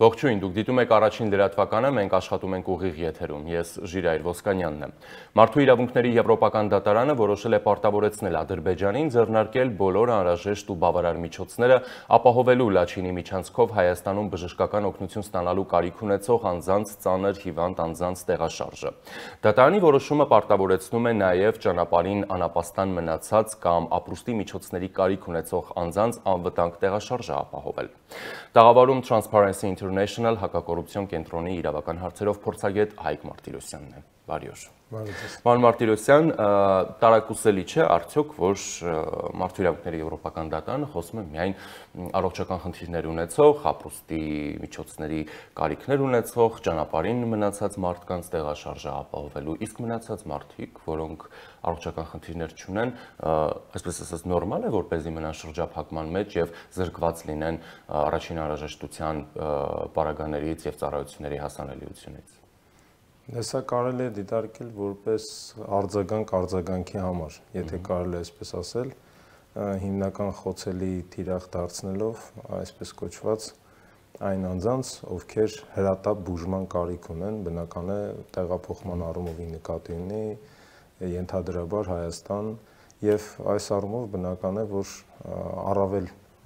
Ողջույն, դուք դիտում եք առաջին լրատվականը, մենք աշխատում ենք ուղիղ եթերում, ես Ժիրայր Ոսկանյանն եմ։ Մարդու իրավունքների Եվրոպական դատարանը որոշել է պարտավորեցնել Ադրբեջանին ձեռնարկել բոլոր անհրաժեշտ ու բավարար միջոցները ապահովելու Լաչինի միջանցքով Հայաստանում բժշկական օգնություն ստանալու կարիք ունեցող անձանց ծանր հիվանդ անձանց տեղաշարժը։ Դատարանի որոշումը պարտավորեցնում է նաև ճանապարհին անապաստան մնացած կամ ապրուստի միջոցների կարիք ունեցող անձանց անվտանգ տեղաշարժը ապահովել։ Տաղավարում Transparency International հակակոռուպցիոն կենտրոնի իրավական հարցերով փորձագետ Հայկ Մարտիրոսյանն է։ Բարի օր։ Պարոն Մարտիրոսյան, տարակուսելի չէ արդյոք, որ Մարդու իրավունքների Եվրոպական դատարանը խոսում է միայն առողջական խնդիրներ ունեցող, ապրուստի միջոցների կարիքներ ունեցող, ճանապարհին մնացած մարդկանց տեղաշարժը ապահովելու, իսկ մնացած մարդիկ, որոնք առողջական խնդիրներ չունեն, այսպես ասած նորմալ է, որպեսզի մնան շրջափակման մեջ եւ զրկված լինեն առաջին անհրաժեշտության պարագաներից եւ ծառայությունների հասանելիությունից։ Սա կարելի է դիտարկել որպես արձագանքի համար, եթե կարելի է այսպես ասել, հիմնական խոցելի թիրախ դարձնելով այսպես կոչված այն անձանց, ովքեր հրատապ բուժման կարիք ունեն, բնական է տեղափոխման առումով նկատի ունի ենթադրաբար Հայաստան եւ այս առումով բնական է, որ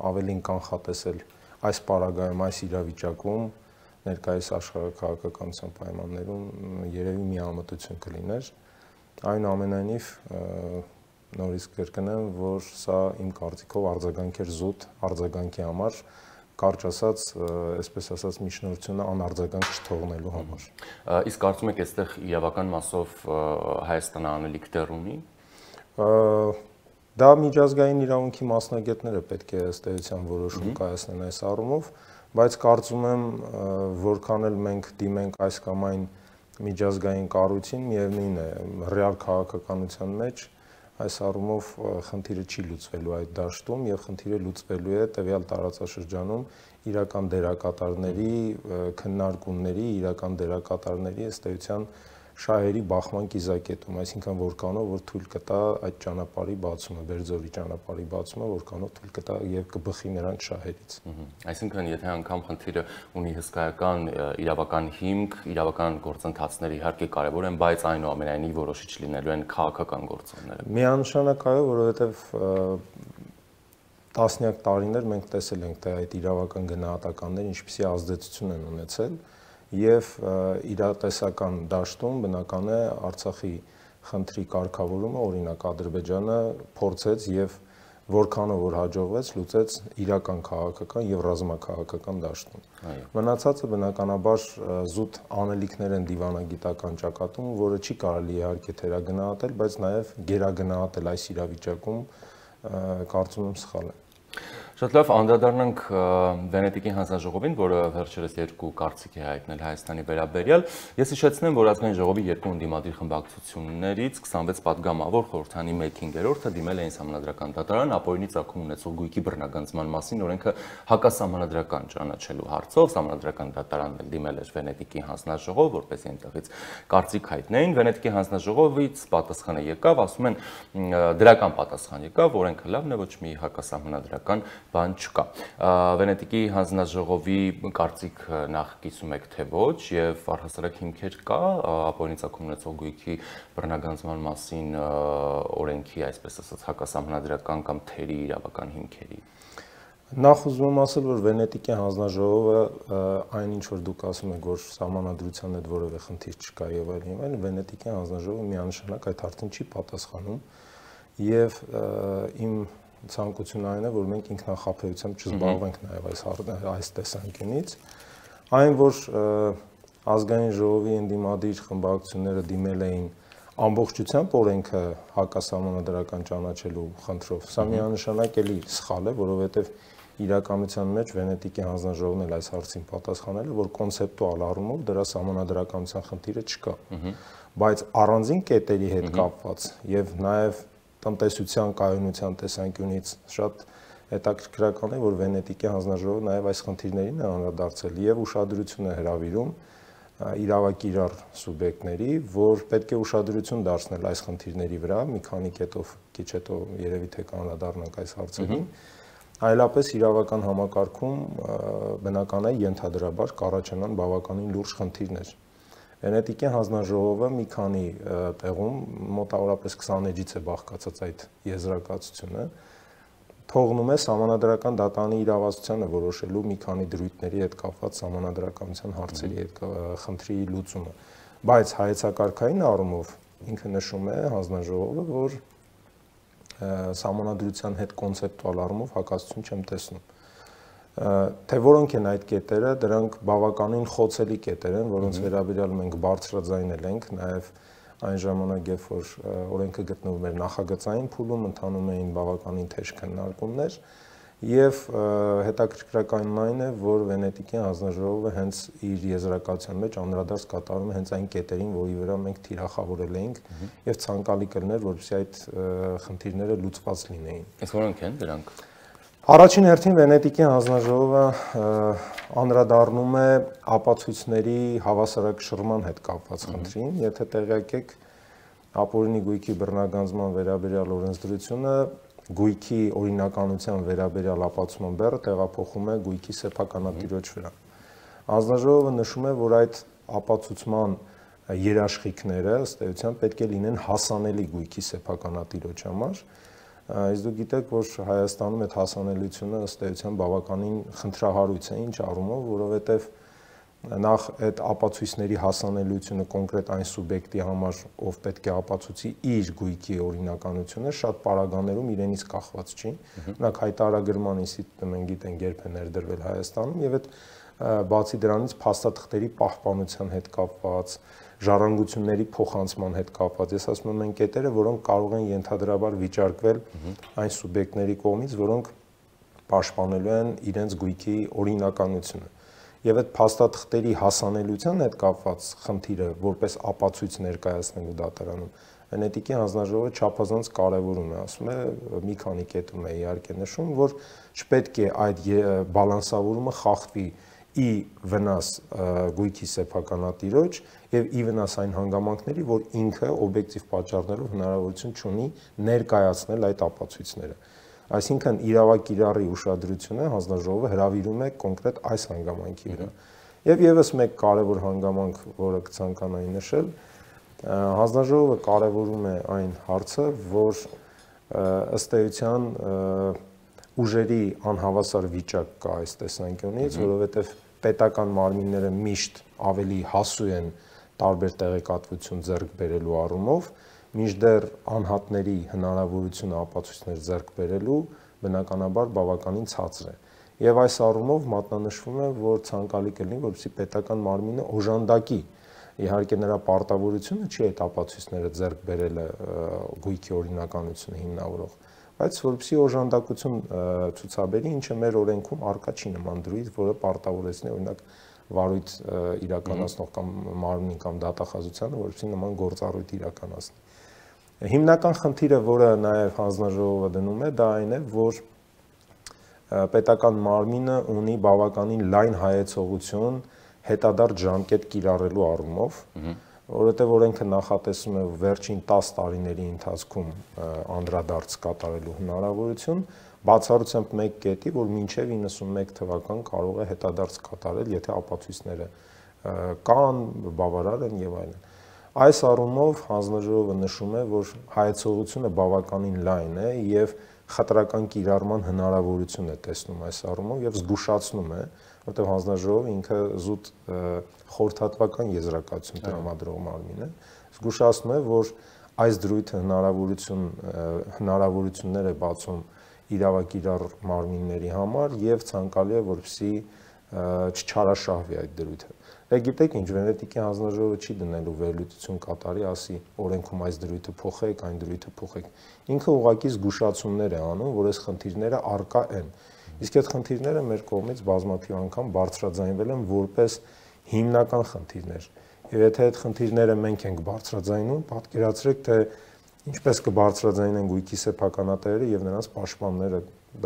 ավելին կանխատեսել այս պարագայում, այս իրավիճակում ներկայիս աշխարհաքաղաքականության պայմաններում երևի միամտություն կլիներ, այնուամենայնիվ նորից կրկնեմ, որ սա իմ կարծիքով արձագանք էր զուտ արձագանքի համար, կարճ ասած, այսպես ասած միջնորդությունը անարձագանք չթողնելու համար։ Իսկ կարծում եք այստեղ իրավական մասով Հայաստանը անելիք դեռ ունի։ Դա միջազգային իրավունքի մասնագետները պետք է ըստ էության որոշում կայացնեն այս առումով, բայց կարծում եմ, որքան էլ մենք դիմենք այս կամ այն միջազգային կառույցին, միևնույն է, ռեալ քաղաքականության մեջ այս առումով խնդիրը չի լուծվելու այդ դաշտում եւ խնդիրը լուծվելու է տվյալ տարածաշրջանում իրական դերակատարների, քննարկումների, իրական դերակատարների ըստ էության շահերի բախման կիզակետում, այսինքն որքանով որ թույլ կտա այդ ճանապարհի բացումը, Բերձորի ճանապարհի բացումը, որքանով թույլ կտա եւ կբխի նրանց շահերից։ Այսինքն, եթե անգամ խնդիրը ունի հսկայական իրավական հիմք, իրավական գործընթացները իհարկե կարևոր են, բայց այնուամենայնիվ որոշիչ լինելու են քաղաքական գործոնները։ Միանշանակ այո, որովհետեւ տասնյակ տարիներ մենք տեսել ենք, թե այդ իրավական գնահատականները ինչպիսի ազդեցություն են ունեցել եւ իրատեսական դաշտում բնական է Արցախի խնդրի կարգավորումը, օրինակ Ադրբեջանը փորձեց եւ որքանով որ հաջողվեց լուծեց իրական քաղաքական եւ ռազմաքաղաքական դաշտում։ Մնացածը բնականաբար զուտ անելիքներ են դիվանագիտական ճակատում, որը չի կարելի իհարկե թերագնահատել, բայց նաեւ գերագնահատել այս իրավիճակում կարծում եմ սխալ է։ Շատ լավ, անդրադառնանք Վենետիկի հանձնաժողովին, որը վերջերս երկու կարծիք է հայտնել Հայաստանի վերաբերյալ։ Ես հիշեցնեմ, որ Ազգային ժողովի երկու ընդդիմադիր խմբակցություններից 26 պատգամավոր խորհրդանի 1/5-ը դիմել էին Սահմանադրական դատարան ապօրինի ծագում ունեցող գույքի բռնագանձման մասին օրենքը հակասահմանադրական ճանաչելու հարցով։ Սահմանադրական դատարանն էլ դիմել էր Վենետիկի հանձնաժողով, որպեսզի այնտեղից կարծիք հայտնեին։ Վենետիկի հանձնաժողովից պատասխանը եկավ, ասում են դրական պատասխան եկավ, օրենքը լավն է, ոչ մի հակասահմանադրական բան չկա։ Վենետիկի հանձնաժողովի կարծիք նախ կիսում եք թե ոչ եւ առհասարակ հիմքեր կա ապօրինի ծագում ունեցող գույքի բռնագանձման մասին օրենքի, այսպես ասած, հակասահմանադրական կամ թերի իրավական հիմքերի։ Նախ ուզում եմ ասել, որ Վենետիկի հանձնաժողովը այն ինչ որ դուք ասում եք, որ սահմանադրության հետ որևէ խնդիր չկա եւ այլն, Վենետիկի հանձնաժողովը միանշանակ այդ հարցին չի պատասխանում եւ իմ ցանկությունն այն է, որ մենք ինքնախապեյությամբ չզբաղվենք նաև այս տեսանկյունից, այն որ ազգային ժողովի ընդդիմադիր խմբակցությունները դիմել էին ամբողջությամբ օրենքը հակասահմանադրական ճանաչելու խնդրով, սա միանշանակ էլի սխալ է, որովհետև իրականության մեջ Վենետիկի հանձնաժողովն էլ այս հարցին պատասխանել է, որ կոնցեպտուալ առումով դրա սահմանադրականության խնդիրը չկա, բայց առանձին կետերի հետ կապված եւ նաև տնտեսության կայունության տեսանկյունից շատ հետաքրքրական է, որ Վենետիկի հանձնաժողովը նաև այս խնդիրներին է անդրադարձել եւ ուշադրություն է հրավիրում իրավակիրառ սուբյեկտների, որ պետք է ուշադրություն դարձնել այս խնդիրների վրա, մի քանի կետով քիչ հետո երևի թե կանդրադառնանք այս հարցերին, այլապես իրավական համակարգում բնական է ենթադրաբար կառաջանան բավականին լուրջ խնդիրներ։ Վենետիկյան հանձնաժողովը մի քանի տեղում մոտավորապես 20 էջից է բաղկացած այդ եզրակացությունը, թողնում է Սահմանադրական դատարանի իրավասությանը որոշելու մի քանի դրույթների հետ կապված սահմանադրականության հարցերի հետ խնդրի լուծումը, բայց հայեցակարգային առումով ինքը նշում է հանձնաժողովը, որ սահմանադրության հետ կոնցեպտուալ առումով հակասություն չեմ տեսնում։ Թե որոնք են այդ կետերը, դրանք բավականին խոցելի կետեր են, որոնց վերաբերյալ մենք բարձրաձայնել ենք, նաև այն ժամանակ, երբ որ օրենքը գտնվում էր նախագծային փուլում, ընթանում էին բավականին թեժ քննարկումներ, եւ հետաքրքրականն այն է, որ Վենետիկյան հանձնաժողովը հենց իր եզրակացության մեջ անդրադարձ կատարում է հենց այն կետերին, որի վրա մենք թիրախավորել էինք եւ ցանկալի կլիներ, որպեսզի այդ խնդիրները լուծված լինեին։ Իսկ որոնք են դրանք։ Առաջին հերթին Վենետիկյան հանձնաժողովը անդրադառնում է ապացույցների հավասարակշռման հետ կապված խնդրին, եթե տեղյակ եք ապօրինի գույքի բռնագանձման վերաբերյալ օրենսդրությունը գույքի օրինականության վերաբերյալ ապացուցման բեռը տեղափոխում է գույքի սեփականատիրոջ վրա։ Հանձնաժողովը նշում է, որ այդ ապացուցման երաշխիքները ըստ էության պետք է լինեն հասանելի գույքի սեփականատիրոջ համար, իսկ դուք գիտեք, որ Հայաստանում այդ հասանելիությունը ըստ էության բավականին խնդրահարույց է, ինչ առումով, որովհետև նախ այդ ապացույցների հասանելիությունը կոնկրետ այն սուբյեկտի համար, ով պետք է ապացուցի իր գույքի օրինականությունը, շատ պարագաներում իրենից կախված չի։ Օրինակ հայտարարագրման ինստիտուտը մենք գիտենք երբ է ներդրվել Հայաստանում, եւ այդ բացի դրանից փաստաթղթերի պահպանության հետ կապված, ժառանգությունների փոխանցման հետ կապված, ես ասում եմ այն կետերը, որոնք կարող են ենթադրաբար վիճարկվել այն սուբյեկտների կողմից, որոնք պաշտպանելու են իրենց գույքի օրինականությունը։ Եվ այդ փաստաթղթերի հասանելիության հետ կապված խնդիրը որպես ապացույց ներկայացնելու դատարանում Վենետիկյան հանձնաժողովը չափազանց կարևորում է, ասում է, մի քանի կետում է իհարկե նշում, որ չպետք է այդ բալանսավորումը խախտվի ի վնաս գույքի սեփականատիրոջ եւ ի վնաս այն հանգամանքների, որ ինքը օբյեկտիվ պատճառներով հնարավորություն չունի ներկայացնել այդ ապացույցները։ Այսինքն իրավակիրառի ուշադրությունը հանձնաժողովը հրավիրում է կոնկրետ այս հանգամանքի վրա։ Եվ եւս մեկ կարևոր հանգամանք, որը կցանկանայի նշել, հանձնաժողովը կարևորում է այն հարցը, որ ըստ էության ուժերի անհավասար վիճակ կա այս տեսանկյունից, որովհետև պետական մարմինները միշտ ավելի հասու են տարբեր տեղեկատվություն ձեռք բերելու առումով, մինչդեռ անհատների հնարավորությունը ապացույցներ ձեռք բերելու բնականաբար բավականին ցածր է։ Եվ այս առումով մատնանշվում է, որ ցանկալի կլինի, որպեսզի պետական մարմինը օժանդակի, իհարկե նրա պարտավորությունը չի այդ ապացույցները ձեռք բերելը գույքի օրինականությունը հիմնավորող, բայց որպեսզի օժանդակություն ցուցաբերի, ինչը մեր օրենքում առկա չի նման դրույթ, որը պարտավորեցնի օրինակ վարույթ իրականացնող կամ մարմնին կամ դատախազությանը, որպեսզի նման գործառույթ իրականացնի։ Հիմնական խնդիրը, որը նաև հանձնաժողովը դնում է, դա այն է, որ պետական մարմինը ունի բավականին լայն հայեցողություն հետադարձ ժամկետ կիրառելու առումով, որովհետև օրենքը նախատեսում է վերջին 10 տարիների ընթացքում անդրադարձ կատարելու հնարավորություն, բացառությամբ մեկ կետի, որ մինչև 91 թվական կարող է հետադարձ կատարել, եթե ապացույցները կան, բավարար են եւ այլն։ Այս առումով հանձնաժողովը նշում է, որ հայեցողությունը բավականին լայն է եւ խտրական կիրառման հնարավորություն է տեսնում այս առումով եւ զգուշացնում է, որտեղ հանձնաժողովը ինքը զուտ խորհրդատվական եզրակացություն տրամադրող մարմին է, զգուշացնում է, որ այս դրույթը հնարավորություններ է բացում իրավակիրառ մարմինների համար եւ ցանկալի է, որպեսզի չչարաշահվի այդ դրույթը։ Դե գիտեք ինչ, Վենետիկյան հանձնաժողովը չի դնելու վերլուծություն կատարի, ասի օրենքում այս դրույթը փոխեք, այն դրույթը փոխեք։ Ինքը ուղղակի զգուշացումներ է անում, որ այս խնդիրները առկա են։ Իսկ այդ խնդիրները մեր կողմից բազմաթիվ անգամ բարձրաձայնվել են որպես հիմնական խնդիրներ։ Եվ եթե այդ խնդիրները մենք ենք բարձրաձայնում, պատկերացրեք, թե ինչպես կբարձրաձայնեն գույքի սեփականատերերը եւ նրանց պաշտպանները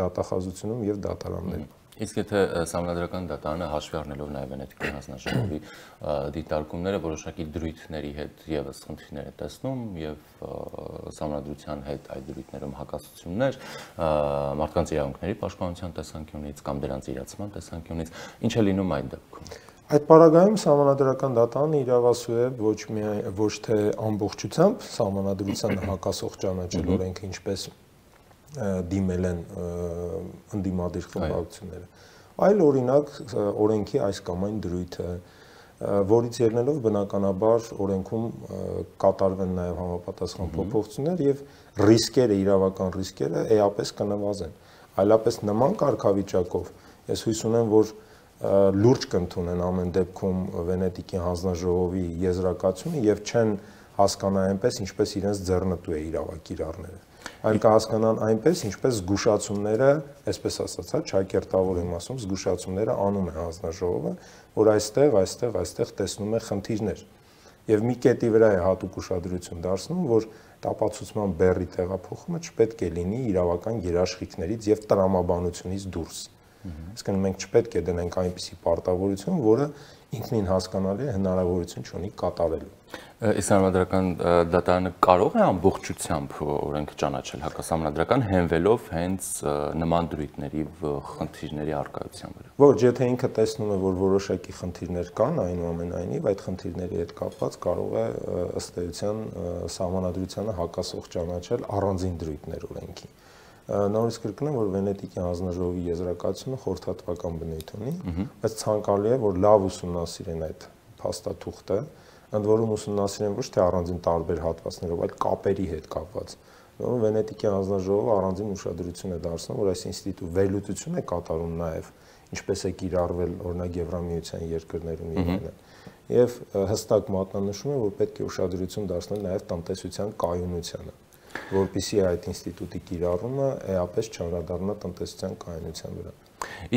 դատախազությունում եւ դատարաններում։ Իսկ եթե Սահմանադրական դատարանը հաշվի առնելով նաև Վենետիկի հանձնաժողովի դիտարկումները որոշակի դրույթների հետ եւս խնդիրներ է տեսնում եւ Սահմանադրության հետ այդ դրույթներում հակասություններ մարդկանց իրավունքների պաշտպանության տեսանկյունից կամ դրանց իրացման տեսանկյունից, ինչ է լինում այդ դեպքում։ Այդ պարագայում Սահմանադրական դատարանը իրավասու է ոչ թե ամբողջությամբ Սահմանադրությանը հակասող ճանաչել օրենքը, ինչպես դիմել են ընդդիմադիր խմբակցությունները, այլ օրինակ օրենքի այս կամ այն դրույթը, որից ելնելով բնականաբար օրենքում կատարվեն նաև համապատասխան փոփոխություններ եւ ռիսկերը, իրավական ռիսկերը էապես կնվազեն։ Այլապես նման կարգավիճակով ես հույս ունեմ, որ լուրջ կընդունեն ամեն դեպքում Վենետիկի հանձնաժողովի եզրակացությունը եւ չեն հասկանա այնպես, ինչպես իրենց ձեռնտու է իրավակիրառները, այլ կհասկանան այնպես, ինչպես զգուշացումները, այսպես ասած, ճակերտավոր եմ ասում, զգուշացումները անում է հանձնաժողովը, որ այստեղ տեսնում է խնդիրներ եւ մի կետի վրա է հատուկ ուշադրություն դարձնում, որ տապացուցման բեռի տեղափոխումը չպետք է լինի իրավական երաշխիքներից եւ տրամաբանությունից դուրս։ Այսինքն մենք չպետք է դնենք այնպիսի պարտավորություն, որը ինքնին հասկանալի է, հնարավորություն չունի կատարելու։ Սահմանադրական դատարանը կարող է ամբողջությամբ օրենքը ճանաչել հակասահմանադրական հենվելով հենց նման դրույթների խնդիրների առկայության վրա։ Ոչ, եթե ինքը տեսնում է, որ որոշակի խնդիրներ կան, այնուամենայնիվ այդ խնդիրների հետ կապված կարող է ըստ էության Սահմանադրությանը հակասող ճանաչել առանձին դրույթներ օրենքի։ Նորից կրկնեմ, որ Վենետիկի հանձնաժողովի եզրակացությունը խորհրդատվական բնույթ ունի, բայց ցանկալի է, որ լավ ուսումնասիրեն այդ փաստաթուղթը, ընդ որում ուսումնասիրեն ոչ թե առանձին տարբեր հատվածներով, այլ կապերի հետ կապված։ Վենետիկի հանձնաժողովը առանձին ուշադրություն է դարձնում, որ այս ինստիտուտը վերլուծություն է կատարում նաև, ինչպես է կիրառվել օրինակ Եվրամիության երկրներում եւ այլն։ Եվ հստակ մատնանշում է, որ պետք է ուշադրություն դարձնել նաև տնտեսության կայունությանը, որպեսզի այդ ինստիտուտի կիրառումը էապես չանդրադառնա տնտեսության կայունության վրա։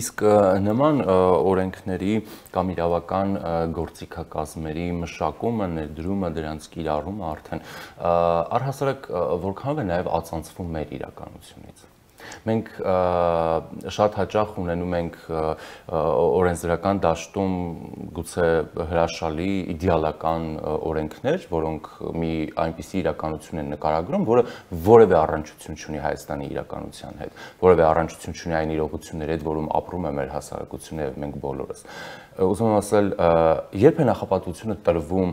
Իսկ նման օրենքների կամ իրավական գործիքակազմերի մշակումը, ներդրումը, դրանց կիրառումը արդեն առհասարակ որքանով է նաև ածանցվում մեր իրականությունից։ Մենք շատ հաճախ ունենում ենք օրենսդրական դաշտում գուցե հրաշալի իդեալական օրենքներ, որոնք մի այնպիսի իրականություն են նկարագրում, որը որևէ առնչություն չունի Հայաստանի իրականության հետ, որևէ առնչություն չունի այն իրողությունների հետ, որում ապրում է մեր հասարակությունը եւ մենք բոլորս։ Ուզում եմ ասել, երբ է նախապատվությունը տրվում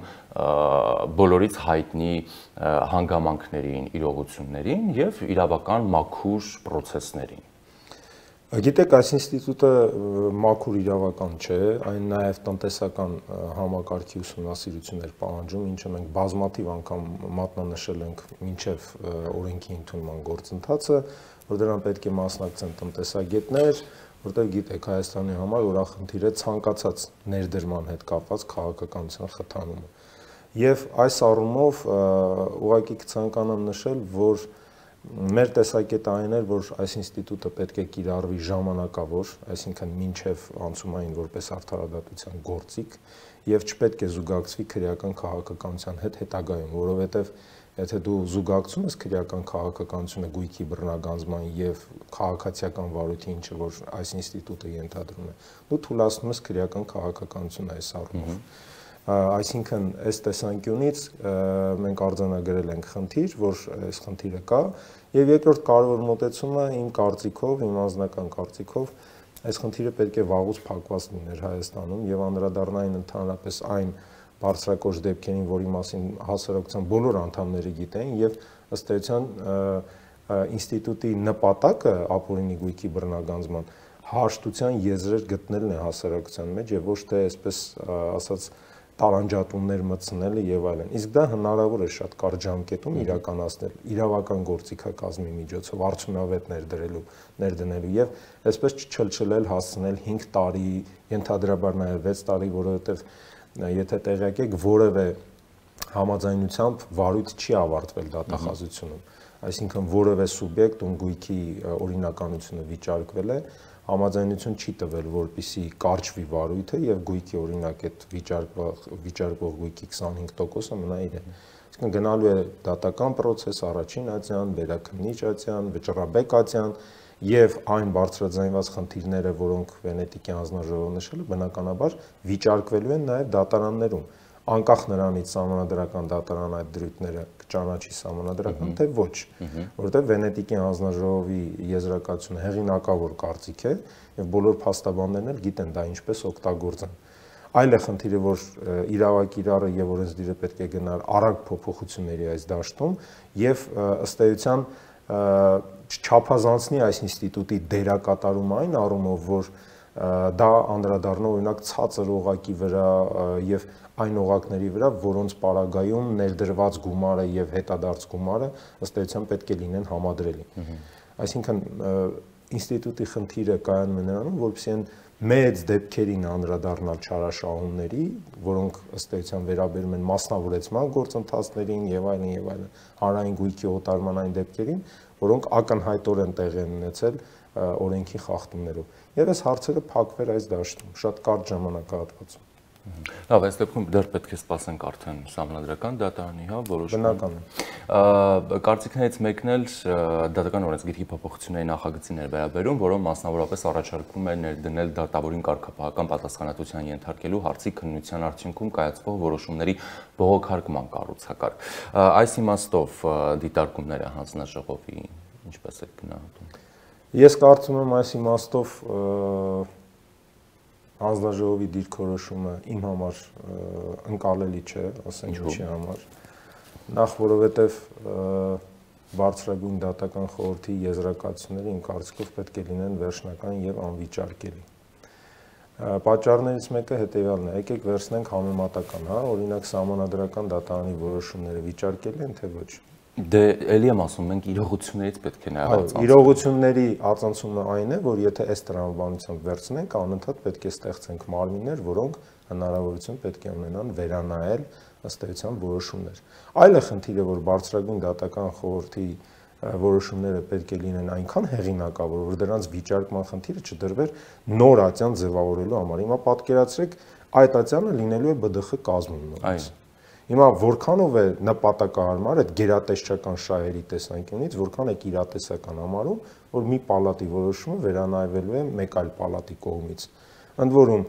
բոլորից հայտնի հանգամանքներին, իրողություններին եւ իրավական մաքուր պրոցեսներին։ Գիտեք, այս ինստիտուտը մաքուր իրավական չէ, այն նաև տնտեսական համակարգի ուսումնասիրություններ պահանջում, ինչը մենք բազմաթիվ անգամ մատնանշել ենք մինչև օրենքի ընդունման գործընթացը, որ դրան պետք է մասնակցեն տնտեսագետներ, որտեղ գիտեք, Հայաստանի համար օրախնդիր է ցանկացած ներդրման հետ կապված քաղաքականության խթանումը։ Եվ այս առումով ուղղակի կցանկանամ նշել, որ մեր տեսակետը այն էր, որ այս ինստիտուտը պետք է կիրառվի ժամանակավոր, այսինքն մինչև անցումային որպես արդարադատության գործիք, եւ չպետք է զուգակցվի քրեական քաղաքականության հետ հետագայում, որովհետեւ եթե դու զուգակցում ես քրեական քաղաքականությունը գույքի բռնագանձման եւ քաղաքացիական վարույթի, ինչը որ այս ինստիտուտը ենթադրում է, դու թույլատնում ես քրեական քաղաքականությունը այս առումով։ Այսինքն այս տեսանկյունից մենք արձանագրել ենք խնդիր, որ այս խնդիրը կա, եւ երկրորդ կարևոր մոտեցումը իմ կարծիքով, իմ անձնական կարծիքով, այս խնդիրը պետք է վաղուց փակված լիներ Հայաստանում եւ անդրադառնային ընդհանրապես այն բարձրակոչ դեպքերին, որի մասին հասարակության բոլոր անդամները գիտեն եւ ըստ էության ինստիտուտի նպատակը ապօրինի գույքի բռնագանձման հաշտության եզրեր գտնելն է հասարակության մեջ եւ ոչ թե այսպես ասած տարանջատումներ մտցնելը եւ այլն։ Իսկ դա հնարավոր է շատ կարճ ժամկետում իրականացնել իրավական գործիքակազմի միջոցով արդյունավետ ներդնելու եւ այսպես չչլչլել հասցնել 5 տարի, ենթադրաբար նաեւ 6 տարի, որովհետեւ եթե տեղյակ եք, որևէ համաձայնությամբ վարույթ չի ավարտվել դատախազությունում, այսինքն որևէ սուբյեկտ, ում գույքի օրինականությունը վիճարկվել է, համաձայնություն չի տվել, որպեսզի կարճվի վարույթը եւ գույքի օրինակ այդ վիճարկվող գույքի 25%-ը մնա իրեն։ Այսինքն գնալու է դատական process, առաջին ատյան, վերաքննիչ ատյան, վճռաբեկ ատյան եւ այն բարձրաձայնված խնդիրները, որոնք Վենետիկի հանձնաժողովը նշել է, բնականաբար վիճարկվելու են նաեւ դատարաններում, անկախ նրանից սահմանադրական դատարան այդ դրույթները կճանաչի սահմանադրական, թե ոչ, որովհետեւ Վենետիկի հանձնաժողովի եզրակացությունը հեղինակավոր կարծիք է եւ բոլոր փաստաբաններն էլ գիտեն դա ինչպես օգտագործեն։ Այլ է խնդիրը, որ իրավակիրառը եւ օրենսդիրը պետք է գնար արագ փոփոխությունների այս դաշտում եւ ըստ էության չափազանցնի այս ինստիտուտի դերակատարումը այն առումով, որ դա անդրադառնա օրինակ ցածր օղակի վրա եւ այն օղակների վրա, որոնց պարագայում ներդրված գումարը եւ հետադարձ գումարը ըստ էության պետք է լինեն համադրելի։ Այսինքն ինստիտուտի խնդիրը կայանում է նրանում, որովհետեւ այն մեծ դեպքերին անդրադառնալ չարաշահումների, որոնք ըստ էության վերաբերում են մասնավորեցման գործընթացներին եւ այլն, հանրային գույքի օտարման այն դեպքերին, որոնք ակնհայտորեն տեղի են ունեցել օրենքի խախտումներով։ Եվ այս հարցերը փակվեր այս դաշտում շատ կարճ ժամանակահատվածում։ Լավ, այս դեպքում դեռ պետք է սպասենք արդեն սահմանադրական դատարանի, հա, որոշումը։ Բնական է։ Կարծիքներից մեկն էլ դատական օրենսգիրքի փոփոխությունների նախագծին էր վերաբերում, որոնք մասնավորապես առաջարկում է ներդնել դատավորին կարգապահական պատասխանատվության ենթարկելու հարցի քննության արդյունքում կայացվող որոշումների բողոքարկման կառուցակարգ։ Այս իմաստով դիտարկումները հանձնաժողովի ինչպես է գնահատում։ Ես կարծում եմ այս իմաստով հանձնաժողովի դիրքորոշումը իմ համար ընկալելի չէ, ասենք ինչի համար։ Նախ որովհետև բարձրագույն դատական խորհրդի եզրակացությունները իմ կարծիքով պետք է լինեն վերջնական եւ անվիճարկելի։ Պատճառներից մեկը հետեւյալն է, եկեք վերցնենք համեմատական, հա, օրինակ սահմանադրական դատարանի որոշումները վիճարկելի են թե ոչ։ Դե էլի եմ ասում, մենք իրողություններից պետք է նաև արձանցենք։ Իրողությունների արձանցումը այն է, որ եթե այս տրամաբանությամբ վերցնենք, անընդհատ պետք է ստեղծենք մարմիններ, որոնք հնարավորություն պետք է ունենան վերանայել ըստ էության որոշումներ։ Այլ է խնդիրը, որ բարձրագույն դատական խորհրդի որոշումները պետք է լինեն այնքան հեղինակավոր, որ դրանց վիճարկման խնդիրը չդրվեր նոր ատյան ձևավորելու համար։ Հիմա պատկերացրեք, այդ ատյանը լինելու է ԲԴԽ կազմում նորից։ Հիմա որքանով է նպատակահարմար այդ գերատեսչական շահերի տեսանկյունից, որքան է իրատեսական համարում, որ մի պալատի որոշումը վերանայվելու է մեկ այլ պալատի կողմից։ Ընդ որում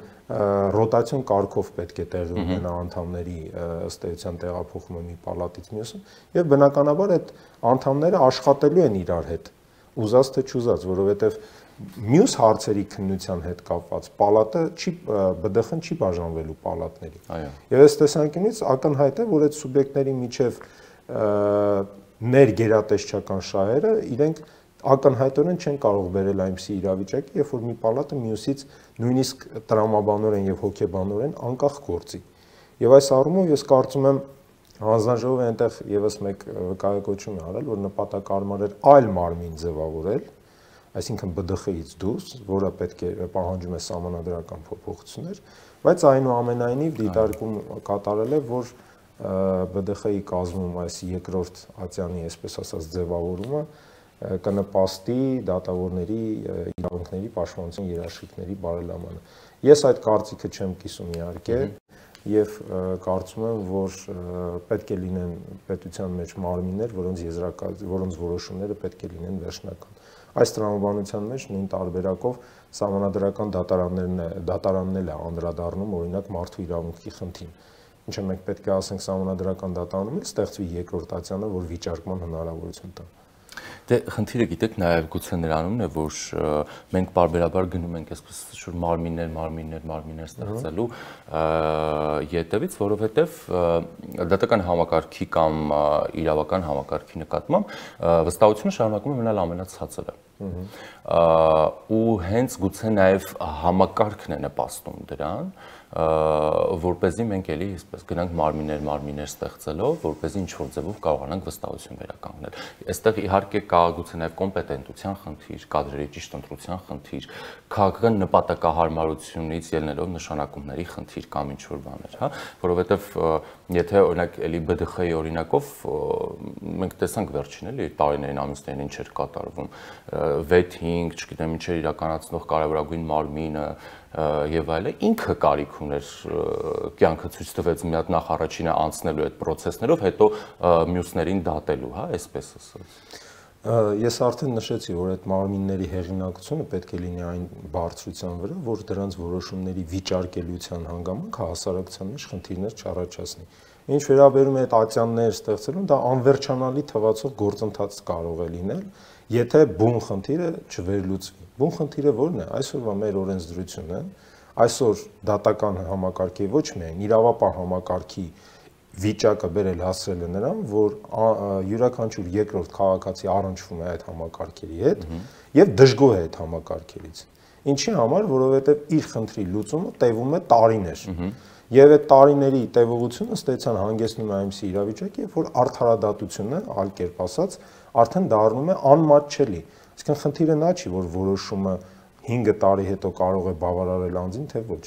ռոտացիոն կարգով պետք է տեղի ունենա անդամների ըստ էության տեղափոխումը մի պալատից մյուսը, եւ բնականաբար այդ անդամները աշխատելու են իրար հետ, ուզած թե չուզած, որովհետեւ մյուս հարցերի քննության հետ կապված պալատը ԲԴԽ-ն չի բաժանվելու պալատների։ Եվ այս տեսանկյունից ակնհայտ է, որ այդ սուբյեկտների միջև ներգերատեսչական շահերը իրենք ակնհայտորեն չեն կարող բերել այնպիսի իրավիճակի, երբ որ մի պալատը մյուսից նույնիսկ տրամաբանորեն եւ հոգեբանորեն անկախ գործի։ Եվ այս առումով ես կարծում եմ հանձնաժողովը այնտեղ եւս մեկ վկայակոչում է արել, որ նպատակարար էր այլ մարմին ձևավորել, այսինքն ԲԴԽ-ից դուրս, որը պետք է պահանջում է սահմանադրական փոփոխություններ, բայց այնուամենայնիվ դիտարկում կատարել է, որ ԲԴԽ-ի կազմում այս երկրորդ ատյանի, այսպես ասած, ձևավորումը կնպաստի դատավորների իրավունքների պաշտպանության երաշխիքների բարելավմանը։ Ես այդ կարծիքը չեմ կիսում իհարկե, եւ կարծում եմ, որ պետք է լինեն պետության մեջ մարմիններ, որոնց որոշումները պետք է լինեն վերջնական։ Այս տրամաբանության մեջ նույն տարբերակով սահմանադրական դատարանն էլ է անդրադառնում օրինակ մարդու իրավունքի խնդրին։ Ինչը մենք պետք է ասենք սահմանադրական դատարանում էլ ստեղծվի երկրորդ ատյանը, որ վիճարկման հնարավորություն տա։ Դե խնդիրը գիտեք նաև գուցե նրանումն է, որ մենք բարբերաբար գնում ենք այսպես շուտ մարմիններ ստեղծելու յետևից, որովհետև դատական համակարգի կամ իրավական համակարգի նկատմամբ վստահությունը շարունակում է մնալ ամենացածրը։ Ու հենց գուցե նաև համակարգն է նպաստում դրան, որպեսզի մենք էլի այսպես գնանք մարմիններ ստեղծելով, որպեսզի ինչ-որ ձևով կարողանանք վստահություն վերականգնել։ Այստեղ իհարկե կա գուցե նաև կոմպետենտության խնդիր, կադրերի ճիշտ ընտրության խնդիր, քաղաքական նպատակահարմարությունից ելնելով նշանակումների խնդիր կամ ինչ-որ բաներ, հա, որովհետև եթե օրինակ էլի ԲԴԽ-ի օրինակով մենք տեսանք վերջին էլի տարիներին ամիսներին ինչ էր կատարվում, վեթինգ, չգիտեմ ինչ էր իրականացնող կարևորագույն մարմինը եւ այլը, ինքը կարիք ուներ կյանքը ցույց տվեց մի հատ նախ առաջինը անցնելու այդ process-ներով, հետո մյուսներին դատելու, հա, այսպես ասած։ Ես արդեն նշեցի, որ այդ մարմինների հեղինակությունը պետք է լինի այն բարձրության վրա, որ դրանց որոշումների վիճարկելիության հանգամանք հասարակության մեջ խնդիրներ չառաջացնի։ Ինչ վերաբերում է այդ ատյաններ ստեղծելուն, դա անվերջանալի թվացող գործընթաց կարող է լինել, եթե բուն խնդիրը չվերլուծվի։ Բուն խնդիրը ո՞րն է։ Այսօրվա մեր օրենսդրությունը, այսօր դատական համակարգի ոչ միայն իրավապահ համակարգի վիճակը բերել հասցրել է նրան, որ յուրաքանչյուր երկրորդ քաղաքացի առնչվում է այդ համակարգերի հետ եւ դժգոհ է այդ համակարգերից։ Ինչի համար, որովհետեւ իր խնդրի լուծումը տևում է տարիներ։ Եվ այդ տարիների տևողությունը ստեցան հանգեցնում է այնպիսի իրավիճակի, որ արդարադատությունը, այլ կերպ ասած, արդեն դառնում է անմատչելի։ Այսինքն խնդիրը նա չի, որ որոշումը 5 տարի հետո կարող է բավարարել անձին, թե ոչ։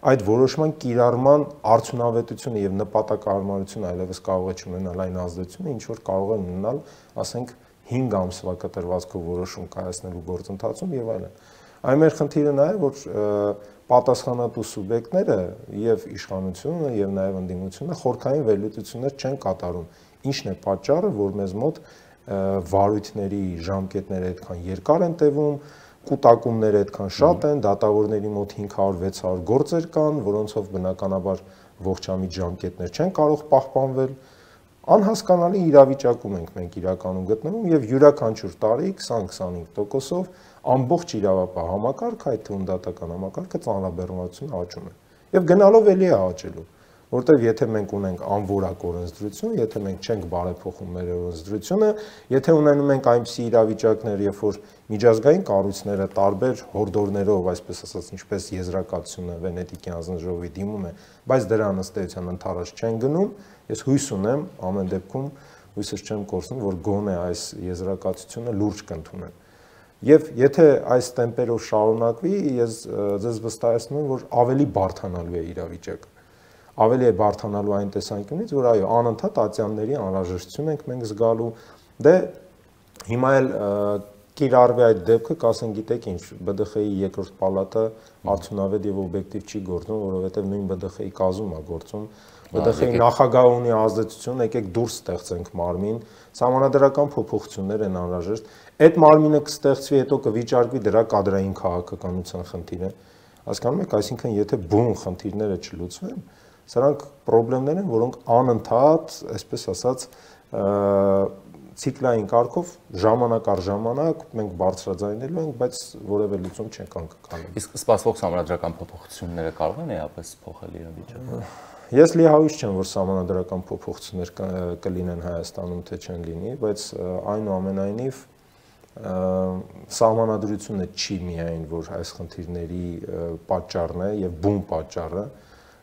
Այդ որոշման կիրառման արդյունավետությունը եւ նպատակահարմարությունը այլևս կարող է չունենալ այն ազդեցությունը, ինչ որ կարող է ունենալ, ասենք, 5 ամսվա կտրվածքով որոշում կայացնելու գործընթացում եւ այլն։ Այն մեր խնդիրը նա է, որ պատասխանատու սուբյեկտները եւ իշխանությունը եւ նաեւ ընդդիմությունը խորքային վերլուծություններ չեն կատարում։ Ինչն է պատճառը, որ մեզ մոտ վարույթների ժամկետները այդքան երկար են տևում, կուտակումները այդքան շատ են, դատավորների մոտ 500-600 գործեր կան, որոնցով բնականաբար ողջամիտ ժամկետներ չեն կարող պահպանվել։ Անհասկանալի իրավիճակում ենք մենք իրականում գտնվում եւ յուրաքանչյուր տարի 20-25%-ով ամբողջ իրավապահ համակարգը, այդ թվում դատական համակարգը ծանրաբեռնվածությունը աճում է։ Եվ գնալով էլի է աճելու, որտեղ եթե մենք ունենք անորակ օրենսդրություն, եթե մենք չենք բարեփոխում մեր օրենսդրությունը, եթե ունենում ենք այնպիսի իրավիճակներ, երբ որ միջազգային կառույցները տարբեր հորդորներով, այսպես ասած, ինչպես եզրակացությունը Վենետիկի հանձնաժողովի դիմում է, բայց դրան ըստ էության ընդառաջ չեն գնում, ես հույս ունեմ, ամեն դեպքում հույսս չեմ կորցնում, որ գոնե այս եզրակացությունը լուրջ կընդունեն։ Եվ եթե այս տեմպերով շարունակվի, ես ձեզ վստահեցնում եմ, որ ավելի բարդանալու է իրավիճակը։ Ավելի է բարդանալու այն տեսանկյունից, որ այո, անընդհատ ատյանների անհրաժեշտություն ենք մենք զգալու։ Դե հիմա էլ կիրառվի այդ դեպքը, կասեն, գիտեք ինչ, ԲԴԽ-ի երկրորդ պալատը արդյունավետ եւ օբյեկտիվ չի գործում, որովհետեւ նույն ԲԴԽ-ի կազմում է գործում։ ԲԴԽ-ի նախագահը ունի ազդեցություն, եկեք դուրս ստեղծենք մարմին, սահմանադրական փոփոխություններ են անհրաժեշտ։ Այդ մարմինը կստեղծվի, հետո կվիճարկվի դրա կադրային քաղաքականության խնդիրը։ Հասկանում եք, այսինքն եթե բուն խնդիրները չլուծվեն, սրանք խնդիրներ են, որոնք անընդհատ, այսպես ասած, ցիկլային կարգով ժամանակ առ ժամանակ մենք բարձրաձայնելու ենք, բայց որևէ լուծում չենք անկալում։ Իսկ սպասվող համանդրական փոփոխությունները կարող են էապես փոխել իրավիճակը։ Ես լիահույս չեմ, որ համանդրական փոփոխություններ կլինեն Հայաստանում, թե չեն լինի, բայց այնուամենայնիվ սահմանադրությունը չի միայն, որ այս խնդիրների պատճառն է եւ բուն պատճառը,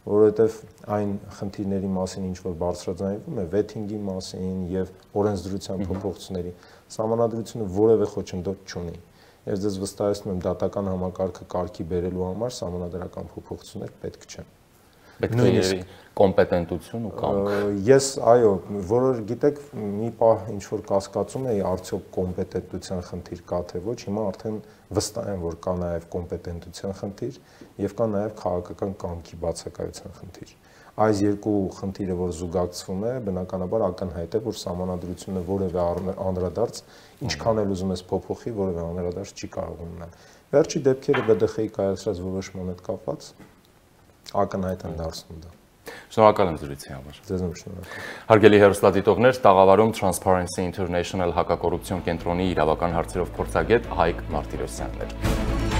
որովհետեւ այն խնդիրների մասին, ինչ որ բարձրաձայնվում է, վեթինգի մասին եւ օրենսդրության փոփոխությունների, սահմանադրությունը որևէ խոչընդոտ չունի։ Ես ձեզ վստահեցնում եմ, դատական համակարգը կարգի բերելու համար սահմանադրական փոփոխություններ պետք չեն։ Պետք է կոմպետենտություն ու կամք։ Ես, այո, որոր գիտեք, մի պահ ինչ որ կասկածում էի, արդյոք կոմպետենտության խնդիր կա թե ոչ, հիմա արդեն վստահ եմ, որ կա նաև կոմպետենտության խնդիր եւ կա նաև քաղաքական կամքի բացակայության խնդիր։ Այս երկու խնդիրը, որ զուգակցվում է, բնականաբար ակնհայտ է, որ սահմանադրությունը որևէ անդրադարձ, ինչքան էլ ուզում ես փոփոխի, որևէ անդրադարձ չի կարող ունենալ։ Վերջի դեպքերը ԲԴԽ-ի կայացրած որոշման հետ կապված ակնհայտ են դարձնում դա։ Շնորհակալ եմ զրույցի համար։ Ձեզ եմ շնորհակալ։ Հարգելի հեռուստադիտողներ, տաղավարում Transparency International հակակոռուպցիոն կենտրոնի իրավական հարցերով փորձագետ Հայկ Մարտիրոսյանն էր։